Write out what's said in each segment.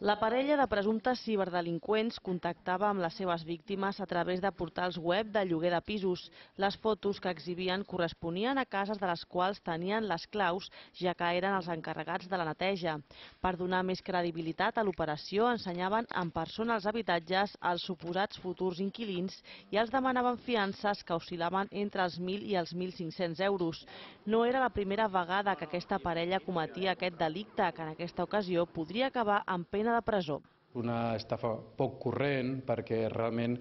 La parella de presumptes ciberdelinqüents contactava amb les seves víctimes a través de portals web de lloguer de pisos. Les fotos que exhibien corresponien a cases de les quals tenien les claus, ja que eren els encarregats de la neteja. Per donar més credibilitat a l'operació, ensenyaven en persona els habitatges als suposats futurs inquilins i els demanaven fiances que oscil·laven entre els 1.000 i els 1.500 euros. No era la primera vegada que aquesta parella cometia aquest delicte, que en aquesta ocasió podria acabar amb pena de presó. Una estafa poc corrent perquè realment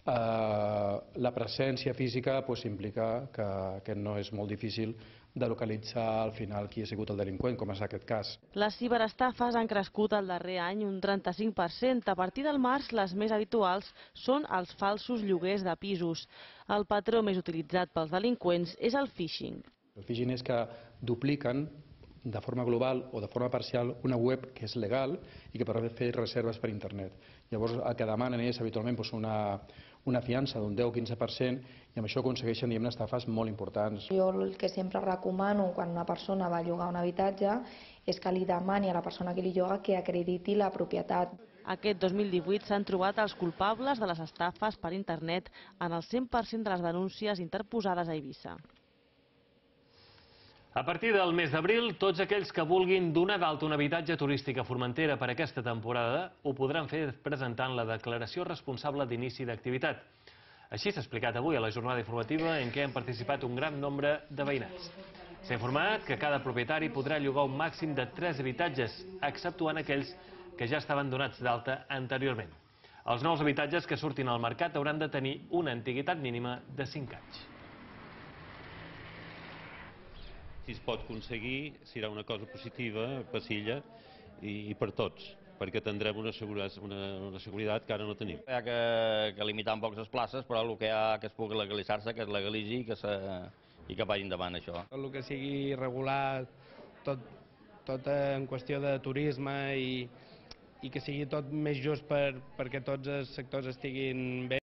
la presència física implica que no és molt difícil de localitzar al final qui ha sigut el delinqüent, com és aquest cas. Les ciberestafes han crescut el darrer any un 35%. A partir del març, les més habituals són els falsos lloguers de pisos. El patró més utilitzat pels delinqüents és el phishing. El phishing és que dupliquen de forma global o de forma parcial una web que és legal i que permet fer reserves per internet. Llavors el que demanen és habitualment una fiança d'un 10-15% i amb això aconsegueixen estafes molt importants. Jo el que sempre recomano quan una persona va a llogar un habitatge és que li demani a la persona que li lloga que acrediti la propietat. Aquest 2018 s'han trobat els culpables de les estafes per internet en el 100% de les denúncies interposades a Eivissa. A partir del mes d'abril, tots aquells que vulguin donar d'alta un habitatge turístic a Formentera per aquesta temporada ho podran fer presentant la declaració responsable d'inici d'activitat. Així s'ha explicat avui a la jornada informativa en què han participat un gran nombre de veïnats. S'ha informat que cada propietari podrà llogar un màxim de 3 habitatges, exceptuant aquells que ja estaven donats d'alta anteriorment. Els nous habitatges que surtin al mercat hauran de tenir una antiguitat mínima de 5 anys. Si es pot aconseguir, serà una cosa positiva per l'illa i per tots, perquè tindrem una seguretat que ara no tenim. Hi ha que limitar un poc les places, però el que hi ha que es pugui legalitzar-se, que es legalitzi i que vagi endavant això. El que sigui regular tot en qüestió de turisme i que sigui tot més just perquè tots els sectors estiguin bé.